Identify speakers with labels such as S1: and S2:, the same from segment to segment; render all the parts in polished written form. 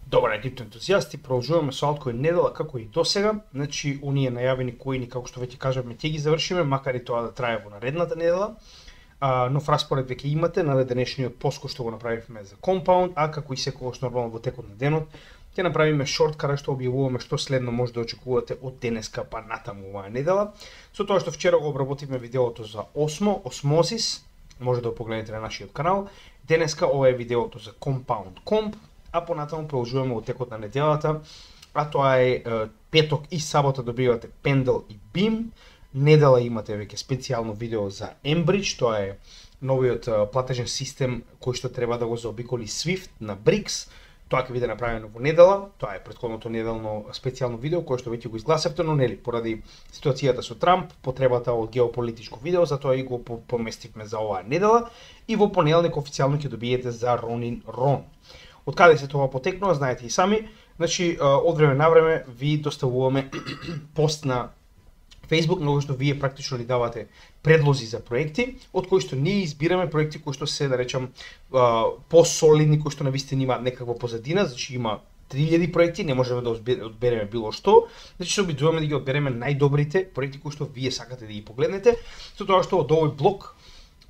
S1: Добра, крипто ентузијасти, продолжуваме со алткоин недела како и досега. Значи, оние најавени коини, како што веќе кажавме, ќе ги завршиме, макар и тоа да трае во наредната недела. Нов распоред веќе имате на денешниот пост кој што го направивме за Compound, а како и секогаш нормално во текот на денот, ќе направиме шорт каде што објавуваме што следно може да очекувате од денеска па натаму оваа недела. Со тоа што вчера го обработивме видеото за Osmosis, може да го погледнете на нашиот канал. Денеска ова е видеото за Compound Comp, а понатаму продолжуваме во текот на неделата, а тоа е петок и сабота добивате Pendle и Beam. Недела имате веќе специјално видео за Enbridge, тоа е новиот платежен систем кој што треба да го заобиколи SWIFT на BRICS. Тоа ќе биде направено во недела, тоа е претходното неделно специјално видео кое што веќе го изгласавте, но нели поради ситуацијата со Трамп, потребата од геополитичко видео, затоа и го поместивме за оваа недела и во понеделник официјално ќе добиете за Ronin Ron. Од каде се тоа потекнува, знаете и сами. Значи, од време на време ви доставуваме пост на Facebook, на кој што вие практично ни давате предлози за проекти, од кои што ние избираме проекти кои што се, да речам, посолидни, кои што навистина имаат некаква позадина. Значи, има 3000 проекти, не можеме да одбереме било што. Значи, се обидуваме да ги одбереме најдобрите проекти кои што вие сакате да ги погледнете, со тоа што од овој блок,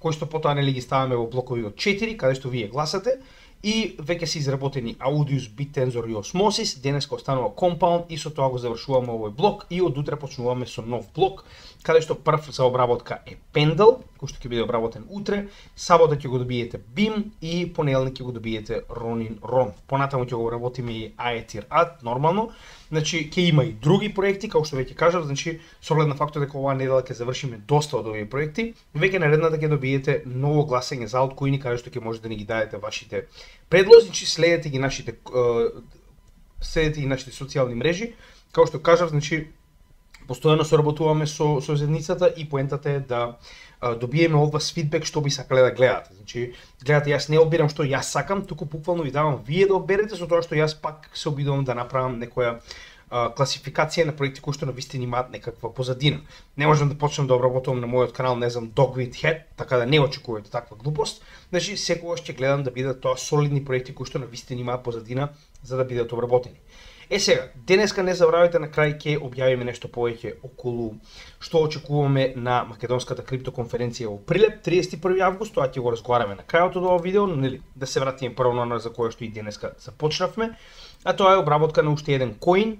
S1: кој што потоа нели ги ставаме во блокови од 4, каде што вие гласате, и веќе се изработени Audius, BitTensor и Osmosis, денеска останува Compound и со тоа го завршуваме овој блок и од утре почнуваме со нов блок, каде што прв за обработка е Pendle, кој што ќе биде обработен утре, сабота ќе го добиете Beam и понеделник ќе го добиете Ronin Ron. Понатаму ќе го обработиме и Aether Ad, нормално. Значи, ќе има и други проекти, како што веќе кажав, значи, со оглед на фактот дека оваа недела ќе завршиме доста од овие проекти, веќе наредната ќе добиете ново гласење за алткоини, каде што ќе можете да ни ги дадете вашите предлози, значи следете ги нашите социјални мрежи. Како што кажав, значи, постојано соработуваме со заедницата и поентата е да добиеме од вас фидбек што би сакале да гледате. Значи, гледате, јас не одбирам што јас сакам, туку буквално ви давам вие да одберете, со тоа што јас пак се обидувам да направам некоја класификација на проекти кои што навистина имаат некаква позадина. Не можам да почнам да обработувам на мојот канал, не знам, Dogwit Head, така да не очекувате таква глупост. Значи, секогаш ќе гледам да бидат тоа солидни проекти кои што навистина имаат позадина за да бидат обработени. Сега, денеска не забравяйте, на крај ќе објавиме нешто повеќе околу што очекуваме на македонската криптоконференција во Прилеп 31 август, тоа ќе го разговараме на крајот од ова видео, но нели да се вратиме прво на за кое што и денеска започнавме, а тоа е обработка на уште еден коин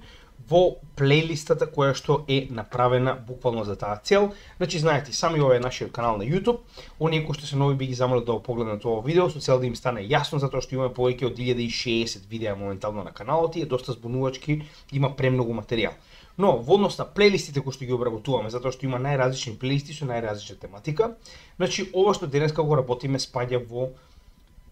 S1: во плейлистата која што е направена буквално за таа цел. Значи, знаете, сами ова е нашиот канал на YouTube. Оние кои што се нови би ги замолил да го погледнат ова видео, со цел да им стане јасно, затоа што имаме повеќе од 1060 видеа моментално на каналот и е доста збунувачки, има премногу материјал. Но во однос на плейлистите кои што ги обработуваме, затоа што има најразлични плейлисти со најразлична тематика, значи ова што денеска го работиме спаѓа во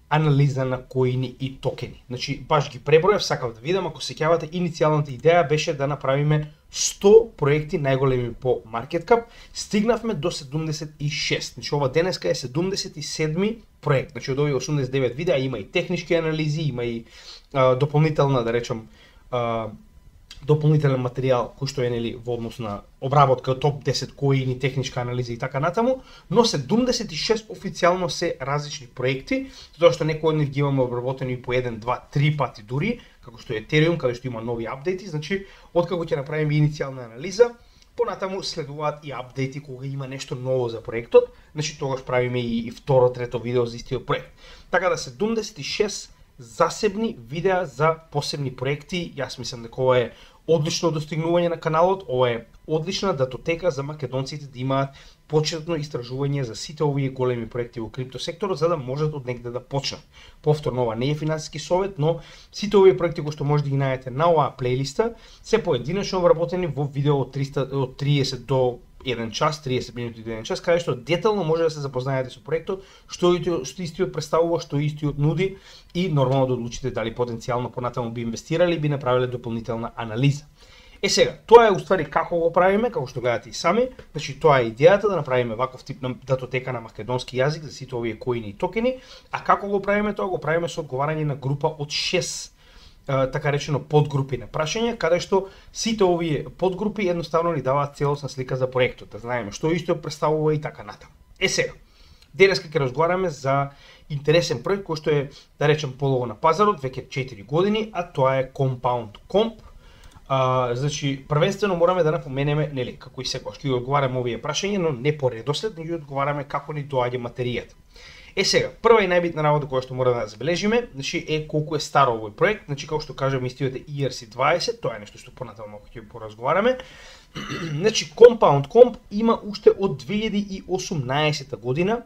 S1: анализа на коини и токени. Значи, баш ги пребројав, сакав да видам, ако сеќавате, иницијалната идеја беше да направиме 100 проекти најголеми по market cap, стигнавме до 76. Значи, ова денеска е 77 проект. Значи, од овие 89 видеа има и технички анализи, има и дополнителна, да речам, дополнителен материјал кој што е нели во однос на обработка од топ 10 коини, техничка анализа и така натаму, но 76 официјално се различни проекти, затоа што некои од нив ги имаме обработени по 1, 2, 3 пати дури, како што е Ethereum, каде што има нови апдејти. Значи, откако ќе направиме иницијална анализа, понатаму следуваат и апдејти кога има нешто ново за проектот, значи тогаш правиме и второ, трето видео за истиот проект. Така да 76 засебни видеа за посебни проекти. Јас мислам дека ова е одлично достигнување на каналот, ова е одлична датотека за македонците да имаат почетно истражување за сите овие големи проекти во криптосекторот, за да можат од негде да почнат. Повторно, ова не е финансиски совет, но сите овие проекти кои што може да ги најдете на оваа плейлиста се поединечно обработени во видео од 30 до 1 час, 30 минути до 1 час, каде што детално може да се запознаете со проектот, што истиот представува, што истиот нуди и нормално да одлучите дали потенцијално понатаму би инвестирали, би направиле дополнителна анализа. Сега, тоа е уствари како го правиме, како што гледате и сами. Значи, тоа е идејата да направиме ваков тип на датотека на македонски јазик за сите овие коини и токени, а како го правиме тоа? Го правиме со одговарање на група од 6 така речено подгрупи на прашања, каде што сите овие подгрупи едноставно ни даваат целосна слика за проектот, да знаеме што исто представува и така натаму. Сега, денеска ќе разговараме за интересен проект кој што е, да речем, полого на пазарот веќе 4 години, а тоа е Compound Comp. Значи, првенствено мораме да напоменеме, нели, како и секогаш ќе одговараме овие прашања, но не по редослед, но одговараме како ни доаѓа материјата. Сега, прва и најбитна работа која што мора да забележиме, значи е колку е стар овој проект. Значи, како што кажам, истиот е ERC20, тоа е нешто што понатаму ќе поразговараме. Значи, Compound Comp има уште од 2018 година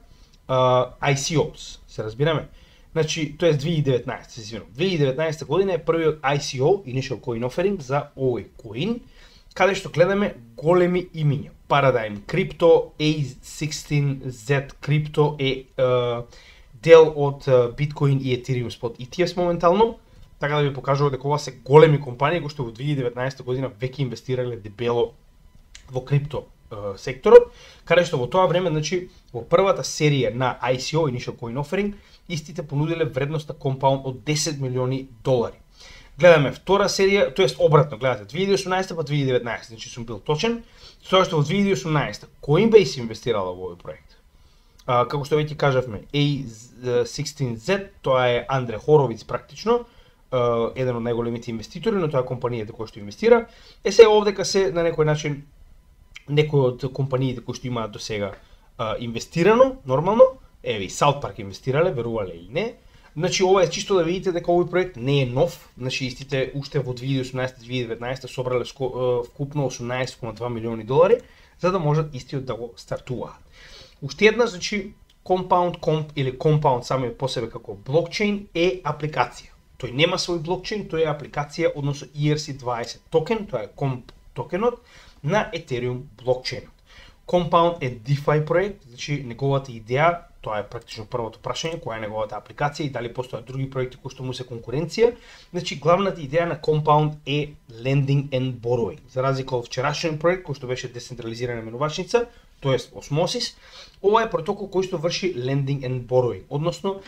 S1: ICOs, се разбираме. Значи, тоа е 2019, се извинувам. 2019 година е првиот ICO, Initial Coin Offering, за овој коин, каде што гледаме големи имиња. Paradigm Crypto, A16Z Crypto е дел од Bitcoin и Ethereum Spot ETFs моментално, така да ви покажува дека ова се големи компании кои што во 2019 година веќе инвестирале дебело во крипто секторот, каде што во тоа време, значи, во првата серија на ICO, Initial Coin Offering, истите понудиле вредност на Compound од $10 милиони. Гледаме втора серија, тоест обратно, гледате 2018 па 2019, значи сум бил точен, тоа што во 2018 Coinbase инвестирала во овој проект. Како што веќе кажавме, A16Z, тоа е Андре Хоровиц практично, еден од најголемите инвеститори, но тоа е компанијата која што инвестира. Сега овдека се на некој начин некои од компаниите кои што имаат до сега инвестирано, нормално, еве и South Park инвестирале, верувале или не. Значи ова е чисто да видите дека овој проект не е нов, значи истите уште во 2018-2019 собрале вкупно $18,2 милиони, за да можат истиот да го стартуваат. Уште една, значи, Compound Comp или Compound самиот по себе како блокчейн е апликација. Тој нема свој блокчейн, тој е апликација, односно ERC20 токен, тоа е Comp токенот на Ethereum блокчейнот. Compound е DeFi проект, значи неговата идеја, тоа е практично првото прашање, која е неговата апликација и дали постојат други проекти кои што му се конкуренција. Значи главната идеја на Compound е lending and borrowing. За разлика од вчерашниот проект кој што беше децентрализирана менувачница, тоест Osmosis, ова е протокол кој што врши lending and borrowing, односно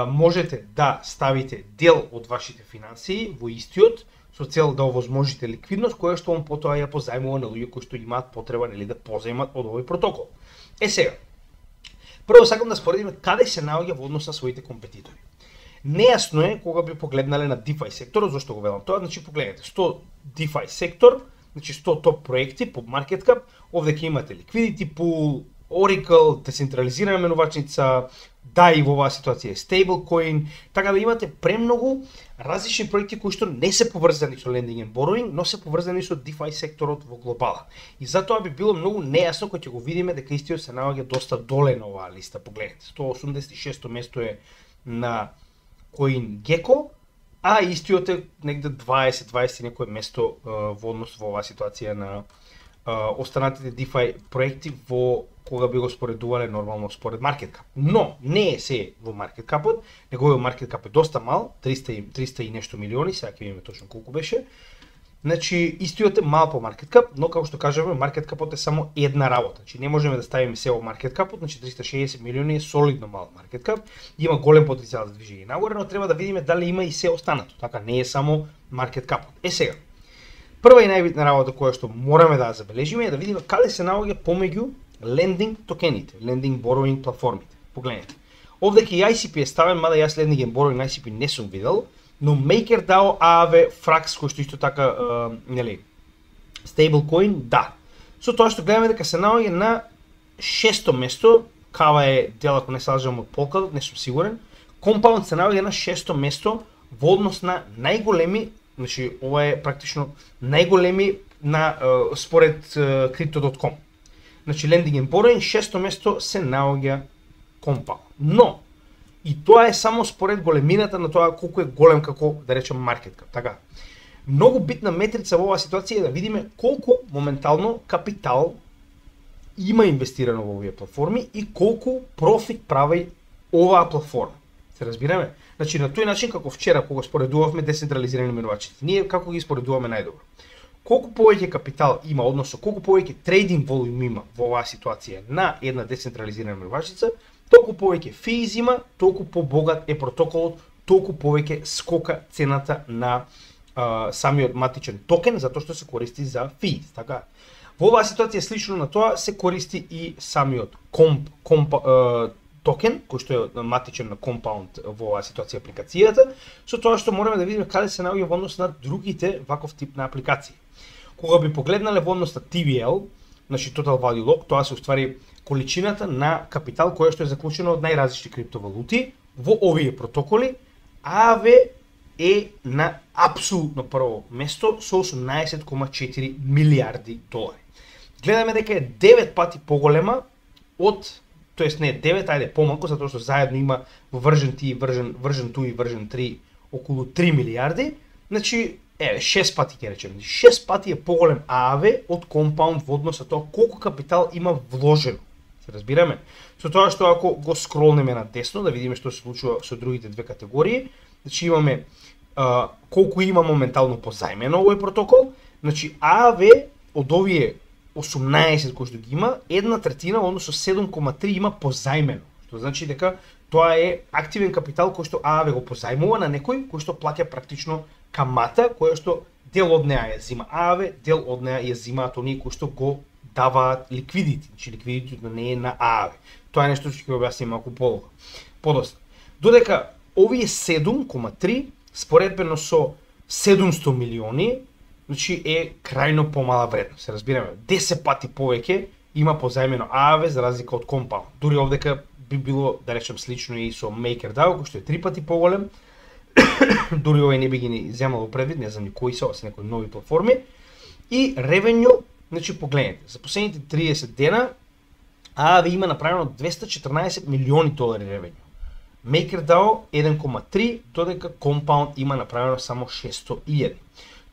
S1: можете да ставите дел од вашите финансии во истиот со цел да овозможите ликвидност која што он потоа ја позајмува на луѓе кои што имаат потреба нели да позајмат од овој протокол. Сега, прво сакам да споредиме каде се наоѓа во однос на своите компетитори. Нејасно е кога би погледнале на DeFi секторот, зашто го велам тоа, значи погледнете 100 DeFi сектор, значи 100 топ проекти по market cap, овде ќе имате Liquidity Pool, Oracle, децентрализирана менувачница, DAI во оваа ситуација е Stablecoin, така да имате премногу различни проекти кои што не се поврзани со lending and borrowing, но се поврзани со DeFi секторот во глобала. И затоа би било многу нејасно кога ќе го видиме дека истиот се наоѓа доста доле на оваа листа. Погледнете, 186 место е на CoinGecko, а истиот е негде 20 некое место во однос во оваа ситуација на останатите DeFi проекти во кога би го споредувале нормално според market cap. Но не е се во market cap-от, неговиот market cap е доста мал, 300 и нешто милиони, сега ќе видиме точно колку беше. Значи истиот е мал по market cap, но како што кажеме, market cap-от е само една работа. Значи не можеме да ставиме се во market cap-от, значи 360 милиони е солидно мал market cap, има голем потенцијал за движење нагоре, но треба да видиме дали има и се останато. Така не е само market cap-от. Сега, прва и најбитна работа која што мораме да забележиме е да видиме каде се наоѓа помеѓу lending токените, lending borrowing платформите. Погледнете. Овде ќе ICP е ставен, мада јас lending and borrowing ICP не сум видел, но MakerDAO, Aave, Frax, кој што исто така, нели, Stablecoin, да. Со тоа што гледаме дека се наоѓа на 6-то место, Kava е дел, ако не се лажам, од Polkadot, не сум сигурен. Compound се наоѓа на 6-то место во однос на најголеми, значи ова е практично најголеми на според Crypto.com. Значи lending and borrowing 6-то место се наоѓа Compound. Но и тоа е само според големината на тоа колку е голем како да речем market cap, така. Многу битна метрица во оваа ситуација е да видиме колку моментално капитал има инвестирано во овие платформи и колку профит прави оваа платформа. Се разбираме? Значи на тој начин како вчера кога споредувавме децентрализирани менувачите, ние како ги споредуваме најдобро. Колку повеќе капитал има, односно колку повеќе трейдинг волум има во оваа ситуација на една децентрализирана менувачица, толку повеќе физ има, толку побогат е протоколот, толку повеќе скока цената на самиот матичен токен, затоа што се користи за физ, така. Во оваа ситуација слично на тоа се користи и самиот токен, кој што е матичен на Compound во оваа ситуација апликацијата, со тоа што можеме да видиме каде се наоѓа во однос на другите ваков тип на апликации. Кога би погледнале во однос на TVL, значи Total Value Lock, тоа се уствари количината на капитал која што е заклучена од најразлични криптовалути во овие протоколи, ААВ е на апсолутно прво место со 18,4 милиарди долари. Гледаме дека е 9 пати поголема од, тоест не 9, ајде помалку, затоа што заедно има во version 2 и version 3 околу 3 милиарди, значи 6 пати ќе речеме. 6 пати е поголем ААВ од Compound во однос на тоа колку капитал има вложено. Се разбираме? Со тоа што ако го скролнеме на десно да видиме што се случува со другите две категории, значи имаме колку има моментално позајмено овој протокол, значи ААВ од овие 18 кои што ги има, 1/3, односно 7,3 има позајмено, што значи дека тоа е активен капитал кој што ААВ го позајмува на некој кој што плаќа практично камата, која што дел од неа ја зима ААВ, дел од неа ја зимаат оние кои што го даваат ликвидити, значи ликвидитито не е на ААВ. Тоа е нешто што ќе објасним малку подоцна. Додека овие 7,3 споредбено со 700 милиони, значи е крајно помала вредност. Се разбираме, 10 пати повеќе има позајмено ААВ за разлика од Compound. Дури овдека би било, да речем, слично и со MakerDAO, кој што е 3 пати поголем. Дури овој не би ги ни земало предвид, не знам ни кои се некои нови платформи. И revenue, значи погледнете, за последните 30 дена ААВ има направено 214 милиони долари revenue. MakerDAO 1,3, додека Compound има направено само 601.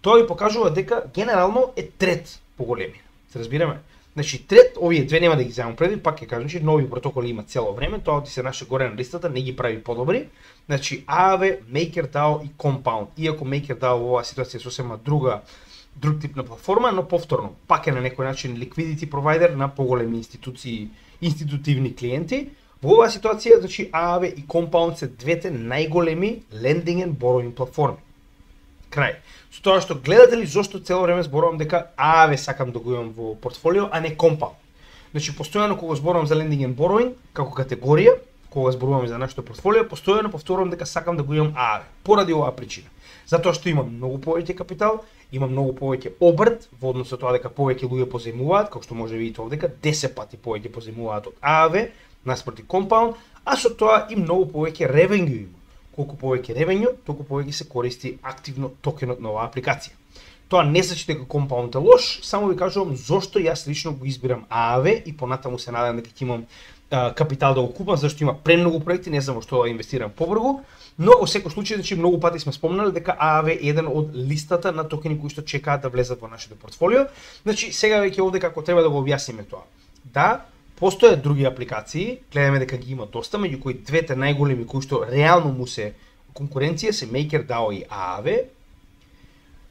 S1: Тоа ви покажува дека генерално е трет поголемина. Се разбираме? Значи трет, овие две нема да ги земам предвид, пак ќе кажам, че нови протоколи има цело време, тоа ти се наше горе на листата, не ги прави подобри. Значи ААВ, MakerDAO и Compound. Иако MakerDAO во оваа ситуација сосема друг тип на платформа, но повторно, пак е на некој начин liquidity provider на поголеми институции, институтивни клиенти. Во оваа ситуација, значи ААВ и Compound се двете најголеми lending and borrowing платформи. Крај. Со тоа што гледате ли зошто цело време зборувам дека ААВ сакам да го имам во портфолио, а не Compound. Значи постојано кога зборувам за lending and borrowing како категорија, кога зборуваме за нашето портфолио, постојано повторувам дека сакам да го имам ААВ поради оваа причина. Затоа што има многу повеќе капитал, има многу повеќе обрт во однос со тоа дека повеќе луѓе позајмуваат, како што може да видите овдека 10 пати повеќе позајмуваат од ААВ наспроти Compound, а со тоа и многу повеќе revenue има. Колку повеќе revenue, толку повеќе се користи активно токенот на оваа апликација. Тоа не значи дека Compound е лош, само ви кажувам зошто јас лично го избирам ААВ и понатаму се надевам дека ќе имам капитал да го купам, зашто има премногу проекти, не знам во што да инвестирам побрзо, но во секој случај, значи многу пати сме спомнали дека ААВ е еден од листата на токени кои што чекаат да влезат во нашето портфолио. Значи сега веќе овде како треба да го објасниме тоа. Да, постојат други апликации, гледаме дека ги има доста, меѓу кои двете најголеми кои што реално му се конкуренција се MakerDAO и ААВ.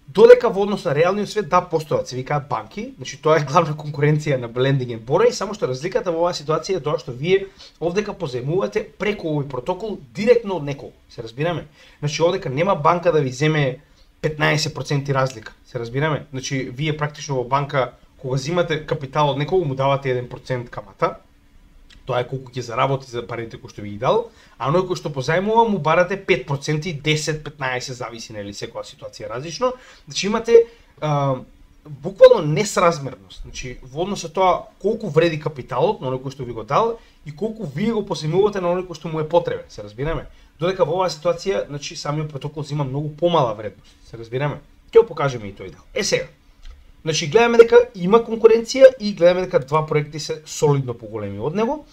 S1: Додека во однос на реалниот свет да постојат, се викаат банки, значи тоа е главна конкуренција на lending and borrowing, само што разликата во оваа ситуација е тоа што вие овдека позајмувате преку овој протокол директно од некого, се разбираме. Значи овдека нема банка да ви земе 15% разлика, се разбираме. Значи вие практично во банка кога земате капитал од некого му давате 1% камата. Тоа е колку ќе заработи за парите кои што ви ги дал, а оној кој што позајмува му барате 5%, 10, 15, зависи нели секоја ситуација различно. Значи имате буквално несразмерност. Значи во однос со тоа колку вреди капиталот на оној кој што ви го дал и колку вие го позајмувате на оној кој што му е потребен, се разбираме. Додека во оваа ситуација, значи самиот протокол зема многу помала вредност, се разбираме. Ќе го покажеме и тој дел. Сега. Значи гледаме дека има конкуренција и гледаме дека два проекти се солидно поголеми од него.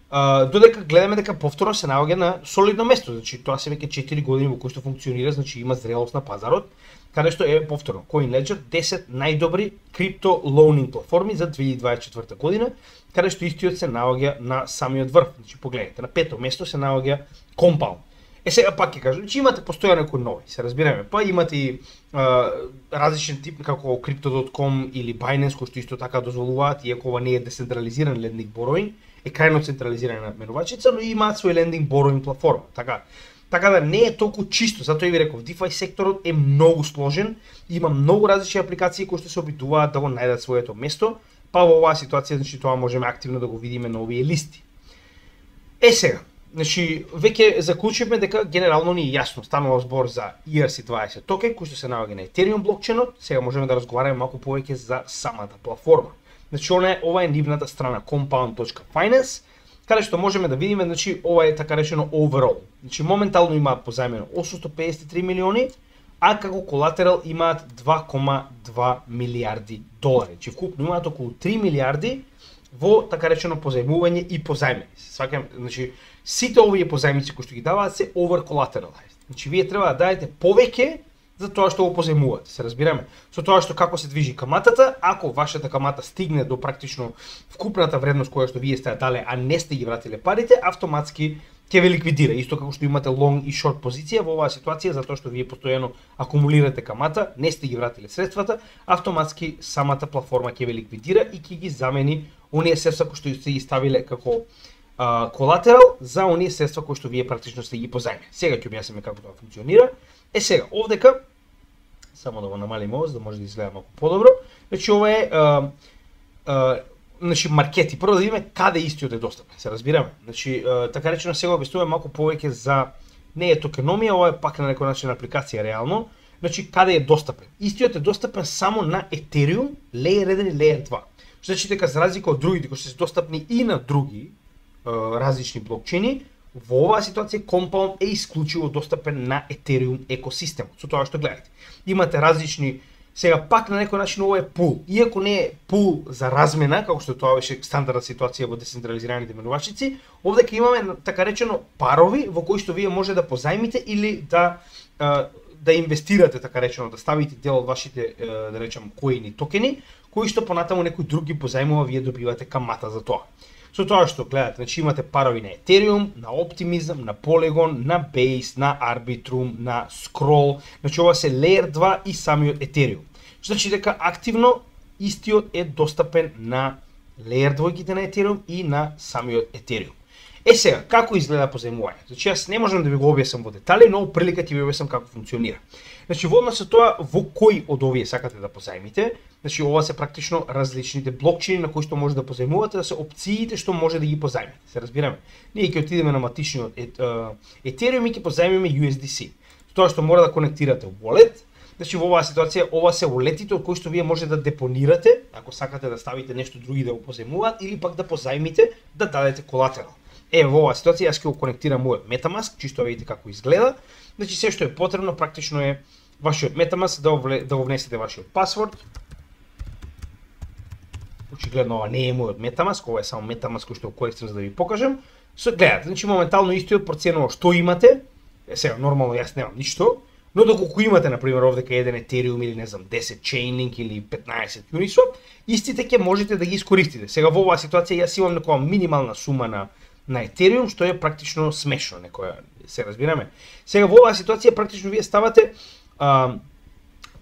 S1: Додека гледаме дека повторно се наоѓа на солидно место, значи тоа се веќе 4 години во кои што функционира, значи има зрелост на пазарот, каде што е повторно CoinLedger 10 најдобри крипто лоунинг платформи за 2024 година, каде што истиот се наоѓа на самиот врв. Значи погледнете, на пето место се наоѓа Compound. Сега пак ќе кажам, че имате постојано некои нови, се разбираме. Па имате и различен тип како Crypto.com или Binance кои што исто така дозволуваат, иако ова не е децентрализиран lending borrowing, е крајно централизирана менувачица, но имаат свој lending borrowing платформа. Така да не е толку чисто, затоа и ви реков, DeFi секторот е многу сложен, има многу различни апликации кои што се обидуваат да го најдат своето место, па во оваа ситуација значи тоа можеме активно да го видиме на овие листи. Сега, значи, веќе заклучивме дека генерално ни е јасно, станува збор за ERC20 токен, кој што се наоѓа на Ethereum блокчейнот. Сега можеме да разговараме малку повеќе за самата платформа. Значи, ова е нивната страна compound.finance, каде што можеме да видиме, значи, ова е така речено overall. Значи, моментално имаат позајмено 853 милиони, а како колатерал имаат 2,2 милиарди долари. Значи, вкупно имаат околу 3 милиарди во така речено позајмување и позајмени. Сваќам, значи, сите овие позајмици кои што ги даваат се over collateralized. Значи, вие треба да дадете повеќе за тоа што го позајмувате, се разбираме. Со тоа што како се движи каматата, ако вашата камата стигне до практично вкупната вредност која што вие сте дале, а не сте ги вратиле парите, автоматски ќе ве ликвидира. Исто како што имате long и short позиција во оваа ситуација, затоа што вие постојано акумулирате камата, не сте ги вратиле средствата, автоматски самата платформа ќе ве ликвидира и ќе ги замени оние средства кои што сте ги ставиле како колатерал за оние средства кои што вие практично сте ги позајмени. Сега ќе објасниме како тоа функционира. Сега, овдека, само да го намалиме ово, за да може да изгледа малку подобро. Значи, ова е значи, маркети. Прво да видиме каде истиот е достапен, се разбираме. Значи, така речено сега објаснуваме малку повеќе за не е токеномија, ова е пак на некој начин апликација реално. Значи, каде е достапен? Истиот е достапен само на Ethereum, Layer 1 и Layer 2. Што значи дека за разлика од другите кои се достапни и на други различни блокчейни, во оваа ситуација Compound е исклучиво достапен на Ethereum екосистемот. Со тоа што гледате. Имате различни, сега пак на некој начин ова е пул. Иако не е пул за размена, како што тоа беше стандардна ситуација во децентрализираните менувачици, овдека имаме така речено парови во кои што вие може да позајмите или да инвестирате, така речено, да ставите дел од вашите, да речем, коини токени, кои што понатаму некој други позајмува, вие добивате камата за тоа. Со тоа што гледате, значи имате парови на Ethereum, на Optimism, на Polygon, на Base, на Arbitrum, на Scroll, значи ова се Layer 2 и самиот Ethereum. Што значи дека активно истиот е достапен на Layer 2-ките на Ethereum и на самиот Ethereum. Сега, како изгледа позајмување? Значи јас не можам да ви го објаснам во детали, но прилика ќе ви објаснам како функционира. Значи во однос со тоа во кој од овие сакате да позајмите, значи ова се практично различните блокчейни на кои што може да позајмувате, да се опциите што може да ги позајмите. Се разбираме. Ние ќе отидеме на матичниот Ethereum и ќе позајмиме USDC. Тоа што мора да конектирате wallet. Значи во оваа ситуација ова се walletите од кои што вие може да депонирате, ако сакате да ставите нешто други да го позајмуваат или пак да позајмите да дадете колатерал. Во оваа ситуација јас ќе го конектирам мојот MetaMask, чисто видите како изгледа. Значи се што е потребно практично е вашиот MetaMask да го внесете вашиот пасворд. Очигледно ова не е мојот MetaMask, ова е само MetaMask кој што го користам за да ви покажам. Гледате, значи моментално истиот проценува што имате. Сега нормално јас немам ништо, но доколку имате на пример овдека еден Ethereum или не знам 10 Chainlink или 15 Uniswap, истите ќе можете да ги искористите. Сега во оваа ситуација јас имам некоја минимална сума на Ethereum, што е практично смешно, некоја, се разбираме. Сега во оваа ситуација практично вие ставате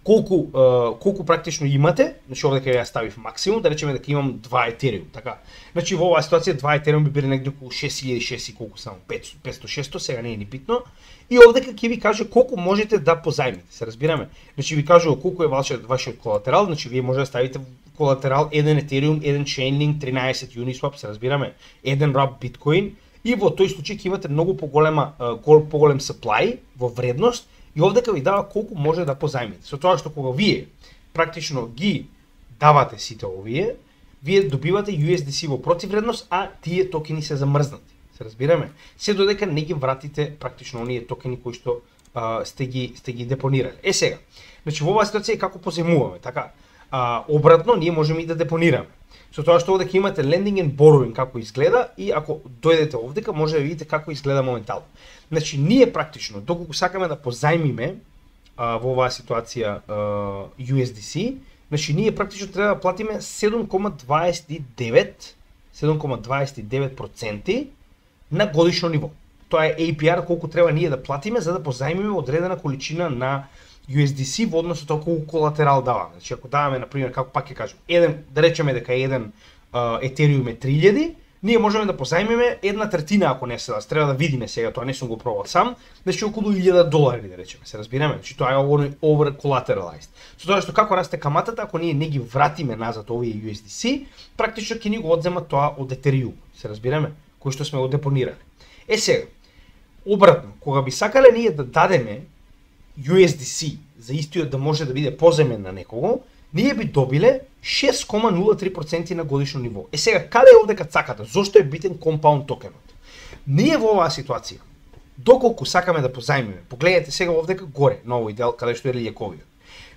S1: колку практично имате, значи овдека ја ставив максимум, да речеме дека имам 2 Ethereum, така. Значи во оваа ситуација 2 Ethereum би биле негде околу 6000 и колку само 500-600, сега не е ни битно. И овдека ќе ви каже колку можете да позајмите, се разбираме. Значи ви кажува колку е вашиот колатерал, значи вие може да ставите колатерал 1 Ethereum, 1 Chainlink, 13 Uniswap, се разбираме, 1 Wrap Bitcoin и во тој случај ќе имате многу поголем supply во вредност и овдека ви дава колку може да позајмите. Со тоа што кога вие практично ги давате сите овие, вие добивате USDC во противредност, а тие токени се замрзнати. Се разбираме? Се додека не ги вратите практично оние токени кои што сте ги депонирали. Сега, значи во оваа ситуација како позајмуваме, така? Обратно, ние можеме и да депонираме. Со тоа што овдека имате lending and borrowing како изгледа и ако дојдете овдека може да видите како изгледа моментално. Значи ние практично доколку сакаме да позајмиме во оваа ситуација USDC, значи ние практично треба да платиме 7,29% на годишно ниво. Тоа е APR колку треба ние да платиме за да позајмиме одредена количина на USDC во однос со тоа колку колатерал даваме. Значи ако даваме на пример како пак ќе кажам, да речеме дека еден Ethereum е 3000, ние можеме да позајмиме 1/3 ако не се треба да видиме сега, тоа не сум го пробал сам, значи околу $1000 да речеме, се разбираме, значи тоа е over collateralized. Со тоа што како расте каматата, ако ние не ги вратиме назад овие USDC, практично ќе ни го одземат тоа од Ethereum, се разбираме, кој што сме го депонирали. Сега, обратно, кога би сакале ние да дадеме USDC за истиот да може да биде поземен на некого, ние би добиле 6,03% на годишно ниво. Сега, каде е овде цаката? Зошто е битен компаунд токенот? Ние во оваа ситуација, доколку сакаме да позајмиме, погледнете сега овдека горе, на овој дел, каде што е лијаковиот.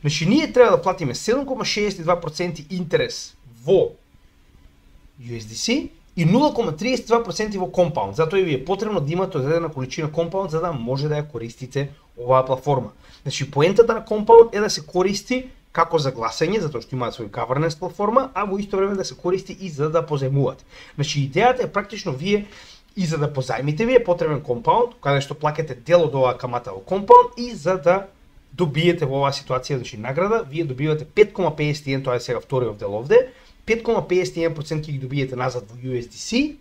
S1: Значи, ние треба да платиме 7,62% интерес во USDC и 0,32% во компаунд. Затоа и ви е потребно да имате одредена количина компаунд за да може да ја користите оваа платформа. Значи, поентата на компаунд е да се користи како за гласање, затоа што имаат свој governance платформа, а во исто време да се користи и за да позајмувате. Значи, идејата е практично вие и за да позајмите ви е потребен компаунд, каде што плаќате дел од оваа камата во компаунд и за да добиете во оваа ситуација, значи награда, вие добивате 5,51, тоа е сега вториот дел овде, 5,51% ќе ги добиете назад во USDC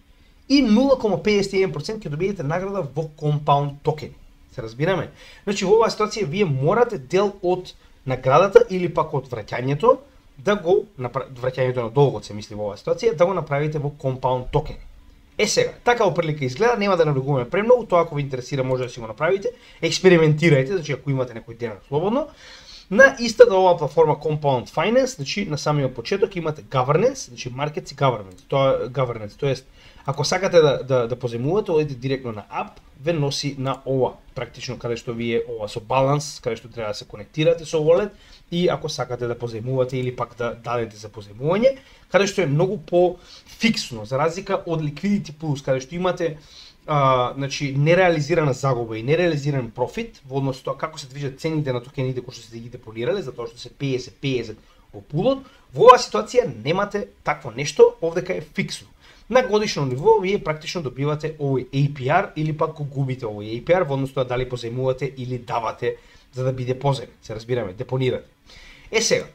S1: и 0,51% ќе добиете награда во компаунд токени. Се разбираме? Значи во оваа ситуација вие морате дел од наградата или пак од враќањето да го враќањето на долгот се мисли во оваа ситуација да го направите во компаунд токени. Сега, така оприлика изгледа, нема да навлегуваме премногу, тоа ако ви интересира може да си го направите, експериментирајте, значи ако имате некој ден слободно. На истата оваа платформа Compound Finance, значи на самиот почеток имате governance, значи markets и governance, тоест ако сакате да позајмувате, одите директно на app, ве носи на ова, практично каде што вие ова со баланс, каде што треба да се конектирате со wallet и ако сакате да позајмувате или пак да дадете за позајмување, каде што е многу по фиксно за разлика од Liquidity Plus, каде што имате значи нереализирана загуба и нереализиран профит во однос тоа како се движат цените на токените кои што се ги деполирале, затоа што се 50-50 во пулот, во оваа ситуација немате такво нешто, овдека е фиксно. На годишно ниво вие практично добивате овој APR или пак го губите овој APR во однос тоа дали позајмувате или давате за да биде позајмен, се разбираме, депонирате. Сега,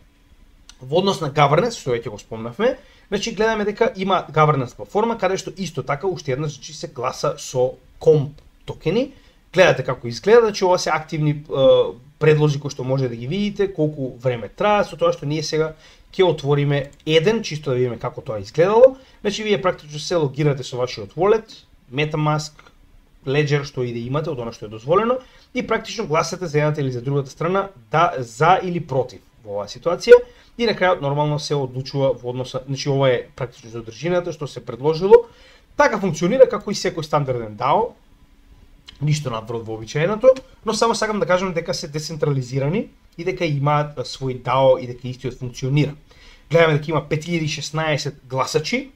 S1: во однос на governance, што веќе го спомнавме, значи гледаме дека има governance платформа каде што исто така уште еднаш значи се гласа со комп токени. Гледате како изгледа, значи ова се активни предложи кои што може да ги видите, колку време трае, со тоа што ние сега ќе отвориме еден, чисто да видиме како тоа изгледало. Значи вие практично се логирате со вашиот wallet, MetaMask, Ledger што и да имате од она што е дозволено и практично гласате за едната или за другата страна да за или против во оваа ситуација и на крајот нормално се одлучува во односа, значи ова е практично содржината што се предложило. Така функционира како и секој стандарден DAO, ништо надвор од вообичаеното, но само сакам да кажам дека се децентрализирани и дека имаат свој DAO и дека истиот функционира. Гледаме дека има 5016 гласачи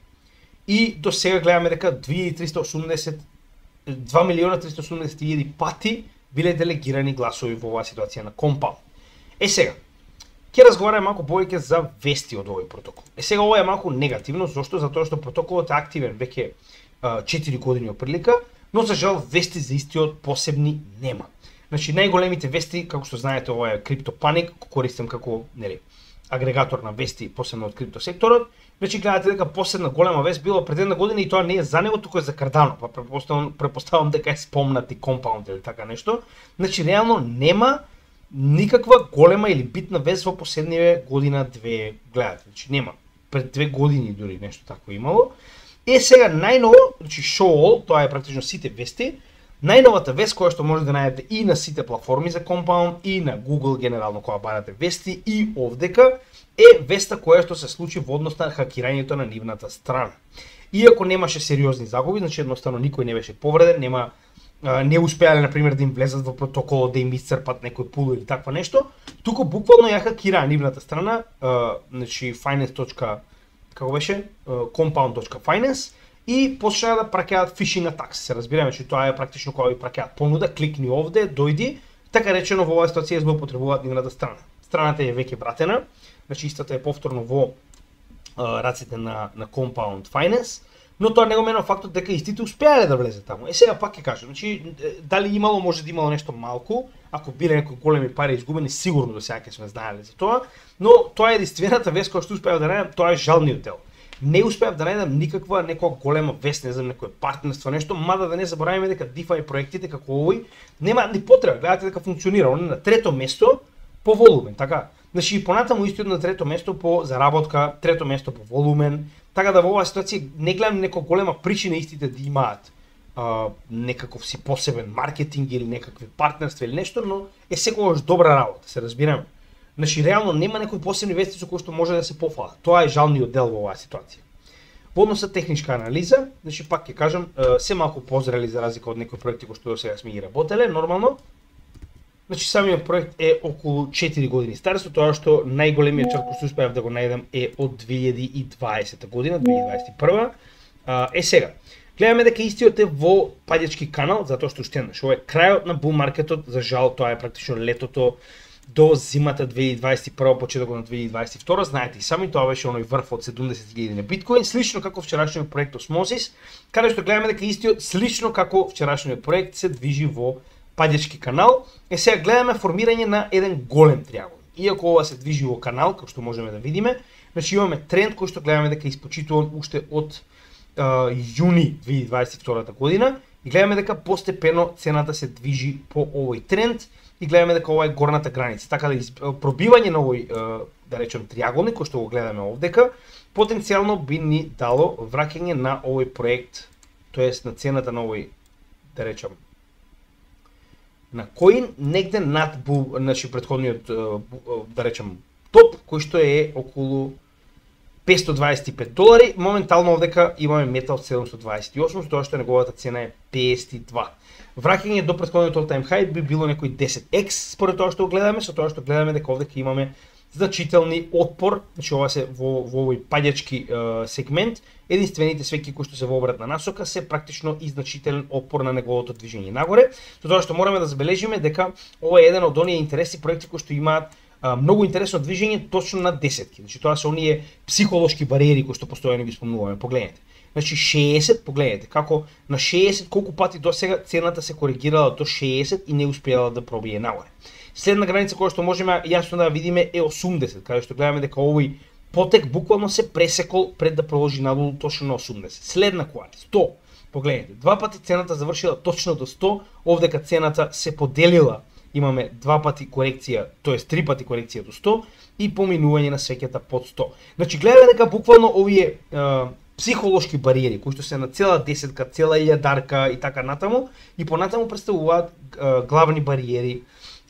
S1: и до сега гледаме дека 2.380.000 пати биле делегирани гласови во оваа ситуација на Compound. Сега, ќе разговараме малку повеќе за вести од овој протокол. Сега ова е малку негативно, зашто? Затоа што протоколот е активен веќе 4 години оприлика, но за жал вести за истиот посебни нема. Значи најголемите вести, како што знаете, ова е CryptoPanic, користам како, нели, агрегатор на вести посебно од крипто секторот. Значи гледате дека последна голема вест било пред една година и тоа не е за него, туку е за Cardano, па претпоставам дека е спомнати Compound или така нешто. Значи реално нема никаква голема или битна вест во последниве година-две, гледате, значи нема. Пред 2 години дури нешто такво имало. Сега најново, значи show all, тоа е практично сите вести, најновата вест која што може да најдете и на сите платформи за Compound и на Google генерално кога барате вести и овдека е веста која што се случи во однос на хакирањето на нивната страна. Иако немаше сериозни загуби, значи едноставно никој не беше повреден, не успеале на пример да им влезат во протоколот, да им исцрпат некој пул или таква нешто, туку буквално ја хакираа нивната страна, значи compound.finance и почнаа да праќаат phishing attacks. Се разбираме, че тоа е практично кога ви праќаат понуда, кликни овде, дојди, така речено во оваа ситуација злоупотребуваат нивната страна. Страната е веќе вратена, значи истата е повторно во раците на Compound Finance, но тоа не го менува фактот дека истите успеале да влезат таму. Сега пак ќе кажам, значи дали имало, може да имало нешто малку, ако биле некои големи пари изгубени, сигурно до сега ќе сме знаеле за тоа, но тоа е единствената вест која што успеав да најдам, тоа е жалниот дел. Не успеав да најдам никаква некоја голема вест, не знам, некое партнерство, нешто, мада да не забораваме дека DeFi проектите како овој нема ни потреба, гледате дека функционира, он е на трето место по волумен, така. Значи понатаму истиот на трето место по заработка, трето место по волумен, така да во оваа ситуација не гледам некоја голема причина истите да имаат некаков си посебен маркетинг или некакви партнерства или нешто, но е секогаш добра работа, се разбираме. Значи реално нема некои посебни вести со кои што може да се пофала. Тоа е жалниот дел во оваа ситуација. Во однос на техничка анализа, значи пак ќе кажам, се малку позрели за разлика од некои проекти кои што до сега сме ги работеле, нормално. Значи самиот проект е околу 4 години стар, со тоа што најголемиот чат кој што успеав да го најдам е од 2020 година, 2021. Сега, гледаме дека истиот е во падјачки канал, затоа што уште еднаш, ова е крајот на бул маркетот, за жал тоа е практично летото до зимата 2021, почетокот на 2022, знаете и сами, тоа беше оној врв од 70.000 на биткоин, слично како вчерашниот проект Osmosis, каде што гледаме дека истиот слично како вчерашниот проект се движи во падјачки канал. Сега гледаме формирање на еден голем триаголник. Иако ова се движи во канал, како што можеме да видиме, значи имаме тренд кој што гледаме дека е испочитуван уште од јуни 2022 година и гледаме дека постепено цената се движи по овој тренд и гледаме дека ова е горната граница. Така да пробивање на овој, да речем, триаголник, кој што го гледаме овдека, потенцијално би ни дало враќање на овој проект, тоест на цената на овој, да речем, на коин негде над значи претходниот, да речем, топ, кој што е околу $525. Моментално овдека имаме метал 728, со тоа што неговата цена е 52. Враќање до претходниот all time high би било некој 10x според тоа што го гледаме, со тоа што гледаме дека овдека имаме значителни отпор, значи ова се во овој падјачки сегмент, единствените свеки кои што се во обратна насока се практично и значителен отпор на неговото движење нагоре, со тоа што мораме да забележиме дека ова е еден од оние интересни проекти кои што имаат многу интересно движење точно на десетки. Значи тоа се оние психолошки бариери кои што постојано ги спомнуваме. Погледнете. Значи 60, погледнете како на 60 колку пати досега цената се коригирала до 60 и не успеала да пробие нагоре. Следна граница која што можеме јасно да видиме е 80, каде што гледаме дека овој потек буквално се пресекол пред да продолжи надолу точно на 80. Следна која е 100. Погледнете, два пати цената завршила точно до 100, овдека цената се поделила. Имаме два пати корекција, тоест три пати корекција до 100 и поминување на свеќата под 100. Значи гледаме дека буквално овие психолошки бариери кои што се на цела десетка, цела илјадарка и така натаму и понатаму представуваат главни бариери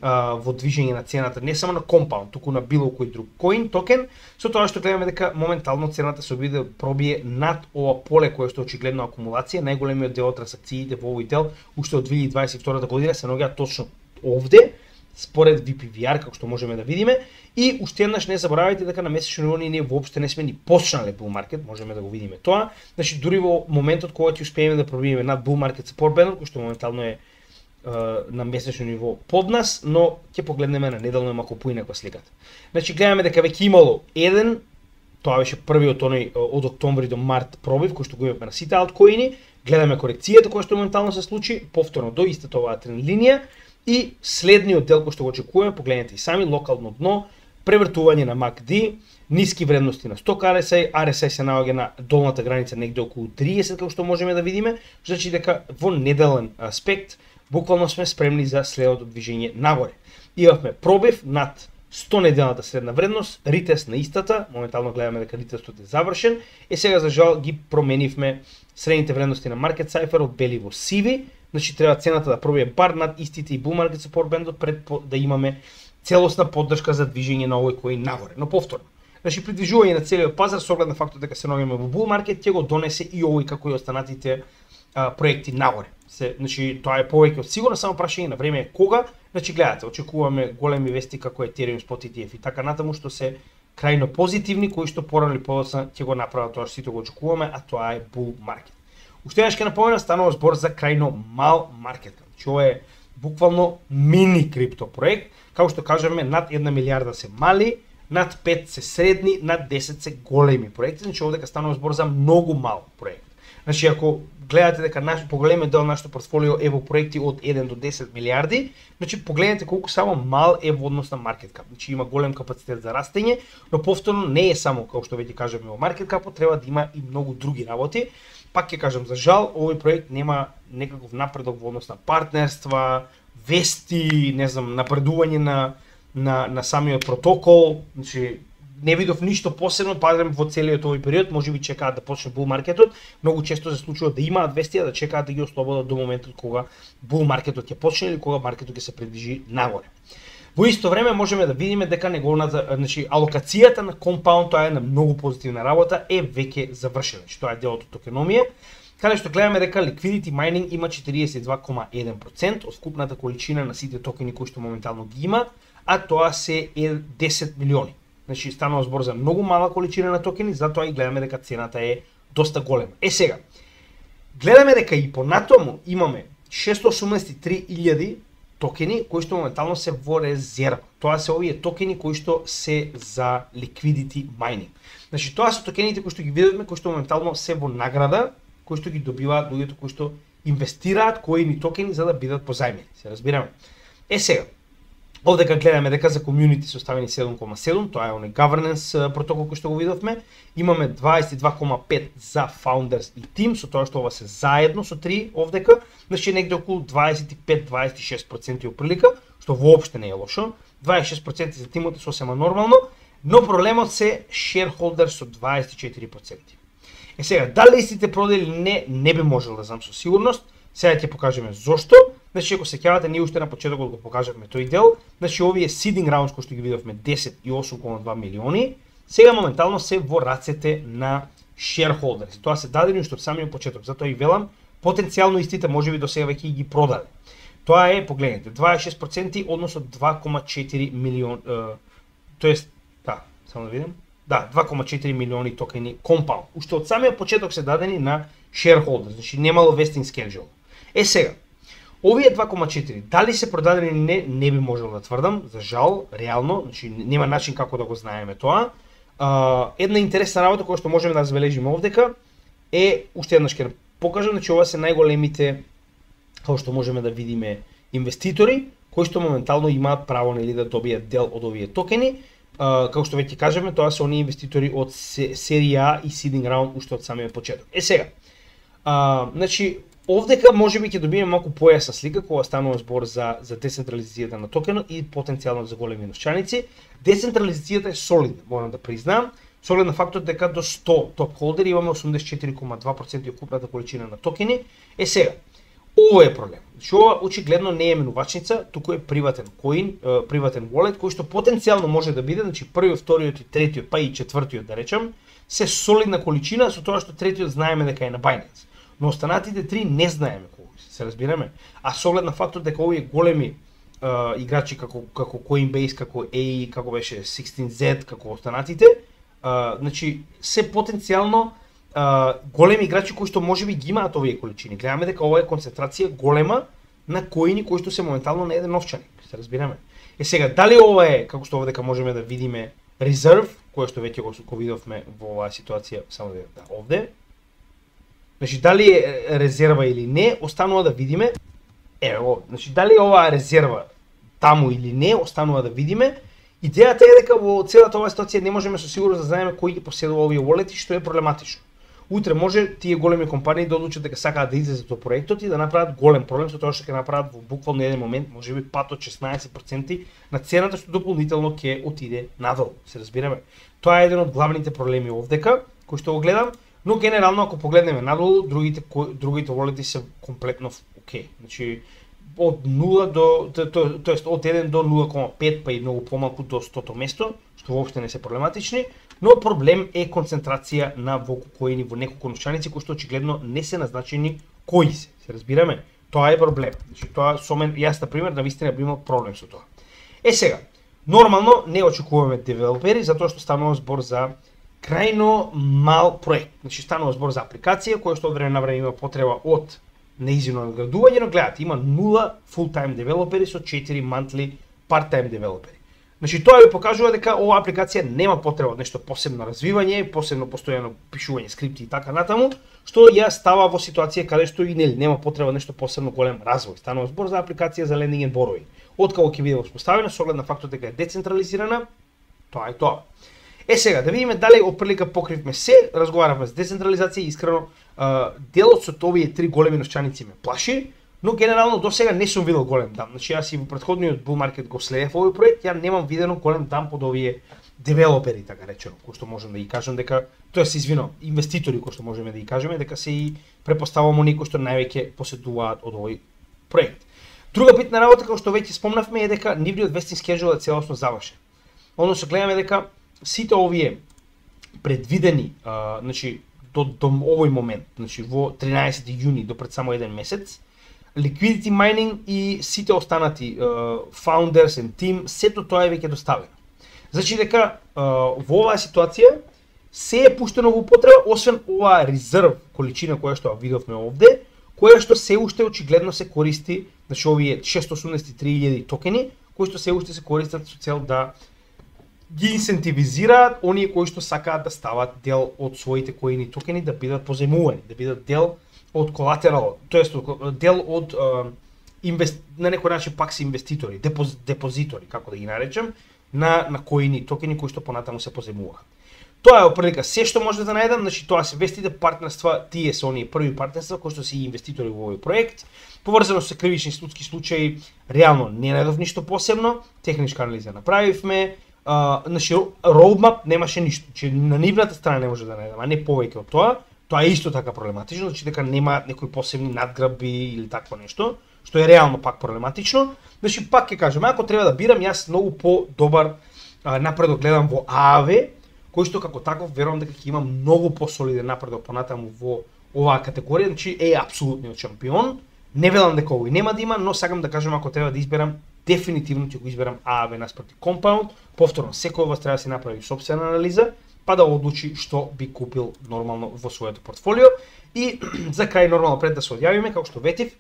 S1: во движење на цената, не само на компаунд, туку на било кој друг коин, токен, со тоа што гледаме дека моментално цената се обиде да пробие над ова поле кое што очигледно акумулација, најголемиот дел од трансакциите во овој дел уште од 2022 година се наоѓаат точно овде, според VPVR, како што можеме да видиме, и уште еднаш не заборавајте дека на месечно ниво ние воопште не сме ни почнале bull market, можеме да го видиме тоа. Значи дури во моментот кога ќе успееме да пробиеме над bull market support band, кој што моментално е на месечно ниво под нас, но ќе погледнеме на неделно малку поинаква сликата. Значи гледаме дека веќе имало еден, тоа беше првиот оној од октомври до март пробив кој што го имаме на сите алткоини, гледаме корекцијата која што моментално се случи, повторно до истата оваа тренд линија и следниот дел кој што го очекуваме, погледнете и сами, локално дно, превртување на MACD, ниски вредности на сток RSI, RSI се наоѓа на долната граница негде околу 30, како што можеме да видиме, значи дека во неделен аспект буквално сме спремни за следното движење нагоре. Имавме пробив над 100 неделната средна вредност, ритест на истата, моментално гледаме дека ритестот е завршен, и сега за жал ги променивме средните вредности на Market Cipher од бели во сиви, значи треба цената да пробие бар над истите и bull market support band пред да имаме целосна поддршка за движење на овој коин нагоре. Но повторно, значи при движување на целиот пазар со оглед на фактот дека се наоѓаме во bull market ќе го донесе и овој како и останатите проекти нагоре. Значи тоа е повеќе од сигурно, само прашање на време е кога. Значи гледате, очекуваме големи вести како Ethereum Spot ETF и така натаму што се крајно позитивни, кои што порано или подоцна ќе го направат тоа што сите го очекуваме, а тоа е bull market. Уште еднаш ќе напоменам, станува збор за крајно мал маркет. Значи ова е буквално мини крипто проект, како што кажеме над 1 милиарда се мали, над 5 се средни, над 10 се големи проекти, значи овдека станува збор за многу мал проект. Значи ако гледате дека поголемиот дел нашето портфолио е во проекти од 1 до 10 милиарди, значи погледнете колку само мал е во однос на маркет кап. Значи има голем капацитет за растење, но повторно не е само, како што веќе кажеме, во маркет капот, треба да има и многу други работи. Пак ќе кажам, за жал, овој проект нема некаков напредок во однос на партнерства, вести, не знам, напредување на самиот протокол, значи не видов ништо посебно, парем во целиот овој период, можеби чекаат да почне бул маркетот. Многу често се случува да имаат вести, да чекаат да ги ослободат до моментот кога бул маркетот ќе почне или кога маркетот ќе се придвижи нагоре. Во исто време можеме да видиме дека неговата, значи алокацијата на компаунд, тоа е на многу позитивна работа, е веќе завршена. Значи тоа е делот од токеномија, каде што гледаме дека liquidity mining има 42,1% од вкупната количина на сите токени кои што моментално ги има, а тоа се е 10 милиони. Значи станува збор за многу мала количина на токени, затоа и гледаме дека цената е доста голема. Сега, гледаме дека и понатаму имаме 683,000 токени кои што моментално се во резерва. Тоа се овие токени кои што се за liquidity mining. Значи тоа се токените кои што ги видовме, кои што моментално се во награда, кои што ги добиваат луѓето кои што инвестираат коини токени за да бидат позајмени. Се разбираме. Сега, овдека гледаме дека за community се оставени 7,7, тоа е оној governance протокол кој што го видовме. Имаме 22,5 за founders и team, со тоа што ова се заедно со 3 овдека, значи негде околу 25-26% оприлика, што воопште не е лошо. 26% за тимот е сосема нормално, но проблемот се shareholders со 24%. Сега, дали истите продели или не би можел да знам со сигурност. Сега ќе покажеме зошто. Значи, ако се сеќавате, ние уште на почетокот го покажавме тој дел. Значи, овие seeding rounds кои што ги видовме 10 и 8,2 милиони, сега моментално се во рацете на shareholders. Тоа се дадени уште од самиот почеток. Затоа и велам, потенцијално истите можеби до сега веќе ги продаде. Тоа е, погледнете, 26% односно 2,4 милион, тоест, да, само да видим. Да, 2,4 милиони токени компаунд. Уште од самиот почеток се дадени на shareholders, значи немало vesting schedule. Сега, овие 2,4, дали се продадени или не би можел да тврдам, за жал, реално, значи нема начин како да го знаеме тоа. Една интересна работа која што можеме да забележиме овдека е, уште еднаш ќе покажам, значи ова се најголемите, како што можеме да видиме, инвеститори, кои што моментално имаат право нели да добијат дел од овие токени. Како што веќе кажеме, тоа се оние инвеститори од серија и seeding round уште од самиот почеток. Сега, значи, овдека можеби ќе добиеме малку појасна слика кога станува збор за децентрализацијата на токенот и потенцијално за големи новчаници. Децентрализацијата е солидна, морам да признам, со оглед на фактот дека до 100 топ холдери имаме 84,2% од купната количина на токени. Сега, ово е проблем. Значи, ова очигледно не е менувачница, туку е приватен коин, приватен wallet, кој што потенцијално може да биде, значи првиот, вториот и третиот, па и четвртиот да речам, се солидна количина, со тоа што третиот знаеме дека е на Binance. Но останатите три не знаеме кои се разбираме. А со оглед на фактот дека овие големи играчи како Coinbase, како AE, како беше 16Z, како останатите, значи се потенцијално големи играчи кои што можеби ги имаат овие количини. Гледаме дека ова е концентрација голема на коини кои што се моментално на еден новчаник, се разбираме. Сега, дали ова е, како што овдека можеме да видиме, резерв, кој што веќе го видовме во оваа ситуација, само да овде. Значи, дали е резерва или не, останува да видиме. Ево, значи, дали оваа резерва таму или не, останува да видиме. Идејата е дека во целата оваа ситуација не можеме со сигурност да знаеме кој ги поседува овие wallet-и, што е проблематично. Утре може тие големи компании да одлучат дека сакаат да излезат од проектот и да направат голем проблем со тоа што ќе направат во буквално еден момент, можеби пат од 16% на цената што дополнително ќе отиде надолу. Се разбираме. Тоа е еден од главните проблеми овдека, кој што го гледам, но генерално ако погледнеме надолу, другите wallet-и се комплетно окей. Значи од 0 до тоест од 1 до 0,5 па и многу помалку до 100-то место, што воопште не се проблематични. Но проблем е концентрација на коини во неколку новчаници кои што очигледно не се назначени кои се. Се разбираме? Тоа е проблем. Значи тоа со мен јас на пример навистина би имал проблем со тоа. Сега, нормално не очекуваме девелопери затоа што станува збор за крајно мал проект. Значи станува збор за апликација која што од време на време има потреба од неизино надградување, но гледате, има 0 full-time девелопери со 4 monthly part-time девелопери. Значи тоа ви покажува дека оваа апликација нема потреба од нешто посебно развивање, посебно постојано пишување скрипти и така натаму, што ја става во ситуација каде што и нема потреба нешто посебно голем развој. Станува збор за апликација за lending and borrowing. Откако ќе биде воспоставена со оглед на фактот дека е децентрализирана, тоа е тоа. Сега да видиме дали отприлика покривме се, разговаравме за децентрализација и искрено делот со овие три големи новчаници ме плаши. но генерално до сега не сум видел голем дам. Значи јас и во претходниот bull market го следев овој проект, ја немам видено голем дам под овие девелопери, така речено, кои што можам да ги кажам дека, тоа се извинувам, инвеститори кои што можеме да ги кажеме дека се и препоставуваме некои што највеќе поседуваат од овој проект. Друга битна работа, како што веќе спомнавме, е дека нивниот vesting schedule е целосно завршен. Односно гледаме дека сите овие предвидени, значи до овој момент, значи во 13 јуни до пред само еден месец, liquidity mining и сите останати founders and team, сето тоа е веќе доставено. Значи дека во оваа ситуација се е пуштено во употреба, освен оваа резерв количина која што видовме овде, која што се уште очигледно се користи, значи овие 683.000 токени, кои што се уште се користат со цел да ги инсентивизираат оние кои што сакаат да стават дел од своите коини токени, да бидат позајмувани, да бидат дел од колатерал, тоест дел од на некој начин пак се инвеститори, депозитори, како да ги наречем, на коини токени кои што понатаму се позајмуваат. Тоа е оприлика се што може да најдам, значи тоа се вестите партнерства, тие се оние први партнерства кои што се инвеститори во овој проект. Поврзано со кривични судски случаи, реално не најдов ништо посебно, техничка анализа направивме, значи roadmap немаше ништо, че на нивната страна не може да најдам, а не повеќе од тоа. Тоа е исто така проблематично, значи дека нема некои посебни надграби или такво нешто, што е реално пак проблематично. Значи пак ќе кажам, ако треба да бирам, јас многу по-добар напредок гледам во ААВ, кој што како таков верувам дека ќе има многу посолиден напредок понатаму во оваа категорија, значи е апсолутниот шампион. Не велам дека овој нема да има, но сакам да кажам ако треба да изберам, дефинитивно ќе го изберам ААВ наспроти Compound. Повторно, секој од вас треба да си направи сопствена анализа, па да одлучи што би купил нормално во своето портфолио. И за крај нормално пред да се одјавиме, како што ветив,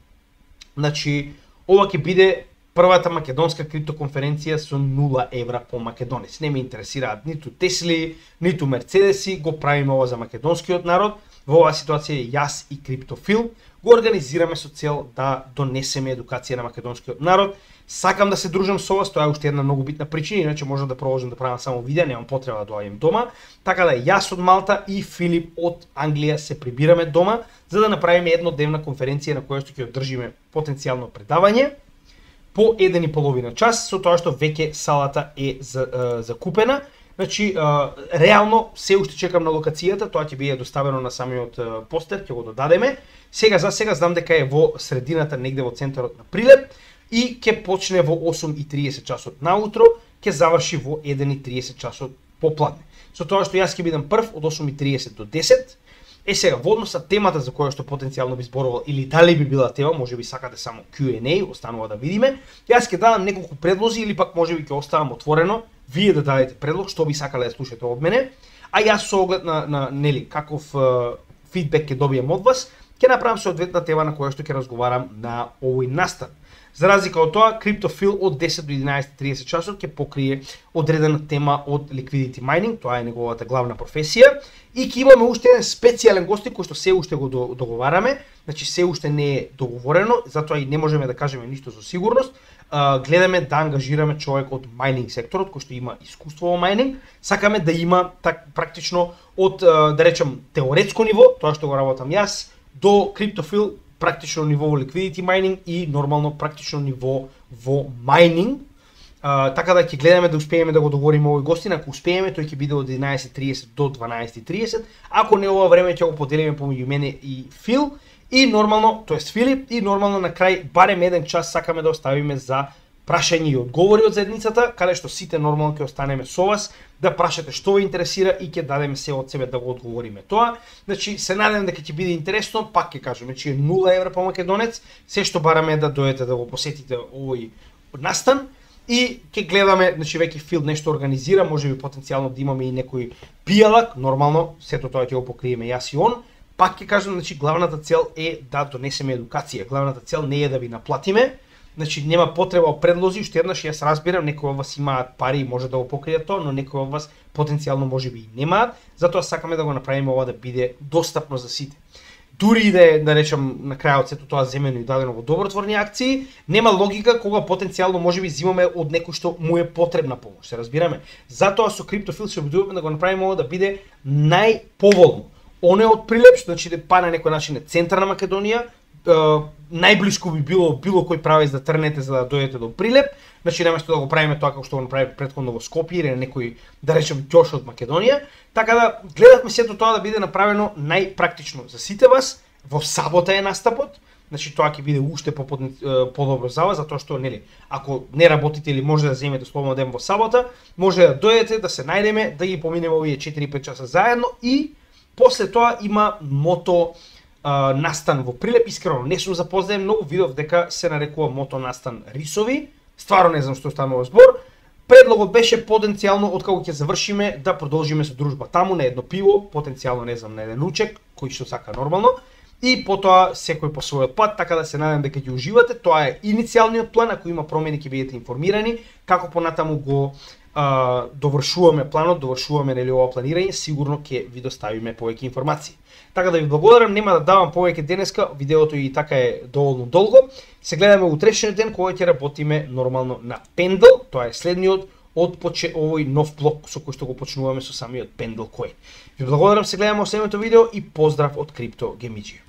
S1: значи ова ќе биде првата македонска криптоконференција со 0 евра по македонец. Не ме интересираат ниту Тесли, ниту Мерцедеси, го правиме ова за македонскиот народ. Во оваа ситуација јас и Криптофил го организираме со цел да донесеме едукација на македонскиот народ. Сакам да се дружам со вас, тоа е уште една многу битна причина, иначе можам да продолжам да правам само видеа, немам потреба да доаѓам дома. Така да јас од Малта и Филип од Англија се прибираме дома за да направиме еднодневна конференција на која што ќе одржиме потенцијално предавање по 1,5 час, со тоа што веќе салата е закупена. Значи, реално се уште чекам на локацијата, тоа ќе биде доставено на самиот постер, ќе го додадеме. Сега за сега знам дека е во средината, негде во центарот на Прилеп и ќе почне во 8:30 часот наутро, ќе заврши во 1:30 часот попладне. Со тоа што јас ќе бидам прв од 8:30 до 10. Сега, во однос на темата за која што потенцијално би зборувал или дали би била тема, можеби сакате само Q&A, останува да видиме. Јас ќе дадам неколку предлози или пак можеби ќе оставам отворено, вие да дадете предлог што би сакале да слушате од мене, а јас со оглед на нели каков фидбек ќе добием од вас, ќе направам соодветна тема на која што ќе разговарам на овој настан. За разлика од тоа, Криптофил од 10 до 11:30 часот ќе покрие одредена тема од liquidity mining, тоа е неговата главна професија, и ќе имаме уште еден специјален гостин кој што се уште го договараме, значи се уште не е договорено, затоа и не можеме да кажеме ништо со сигурност. Гледаме да ангажираме човек од майнинг секторот кој што има искуство во майнинг. Сакаме да има практично од да речем теоретско ниво, тоа што го работам јас, до Криптофил практично ниво во liquidity mining и нормално практично ниво во майнинг. Така да ќе гледаме да успееме да го договориме овој гостин, ако успееме тој ќе биде од 11:30 до 12:30, ако не ова време ќе го поделиме помеѓу мене и Фил и нормално, тоест Филип, и нормално на крај барем еден час сакаме да оставиме за прашање и одговори од заедницата, каде што сите нормално ќе останеме со вас, да прашате што ве интересира и ќе дадеме се од себе да го одговориме тоа. Значи, се надевам дека ќе биде интересно, пак ќе кажеме, че 0 евра по македонец, се што бараме е да дојдете да го посетите овој настан и ќе гледаме, значи веќе Фил нешто организира, можеби потенцијално да имаме и некој пијалак, нормално, сето тоа ќе го покриеме јас и он. Пак ќе кажам, значи главната цел е да донесеме едукација, главната цел не е да ви наплатиме. Значи нема потреба од предлози, уште еднаш јас разбирам, некои од вас имаат пари и може да го покријат тоа, но некои од вас потенцијално можеби и немаат, затоа сакаме да го направиме ова да биде достапно за сите. Дури и да е, да речам, на крајот сето тоа земено и дадено во добротворни акции, нема логика кога потенцијално можеби зимаме од некој што му е потребна помош, се разбираме. Затоа со Криптофил се обидуваме да го направиме ова да биде најповолно. Оне од Прилеп, значи да па на некој начин е центар на Македонија, најблиску би било кој правец да трнете за да дојдете до Прилеп. Значи наместо да го правиме тоа како што го направи претходно во Скопје или некој, да речем, ќош од Македонија, така да гледавме сето тоа да биде направено најпрактично за сите вас. Во сабота е настапот. Значи тоа ќе биде уште подобро за вас, затоа што нели, ако не работите или може да земете слободен ден во сабота, може да дојдете да се најдеме, да ги поминеме овие 4-5 часа заедно и после тоа има мото настан во Прилеп. Искрено не сум запознаен, многу видов дека се нарекува мото настан Рисови. Стварно не знам што станува збор. Предлогот беше потенцијално откако ќе завршиме да продолжиме со дружба таму на едно пиво, потенцијално не знам на еден ручек, кој што сака нормално. И потоа секој по својот пат, така да се надам дека ќе уживате. Тоа е иницијалниот план, ако има промени ќе бидете информирани, како понатаму го довршуваме планот, довршуваме нели ова планирање, сигурно ќе ви доставиме повеќе информации. Така да ви благодарам, нема да давам повеќе денеска, видеото и така е доволно долго. Се гледаме утрешниот ден кога ќе работиме нормално на Pendle, тоа е следниот од овој нов блок со кој што го почнуваме со самиот Pendle Coin. Ви благодарам, се гледаме во следното видео и поздрав од Крипто Гемиџи.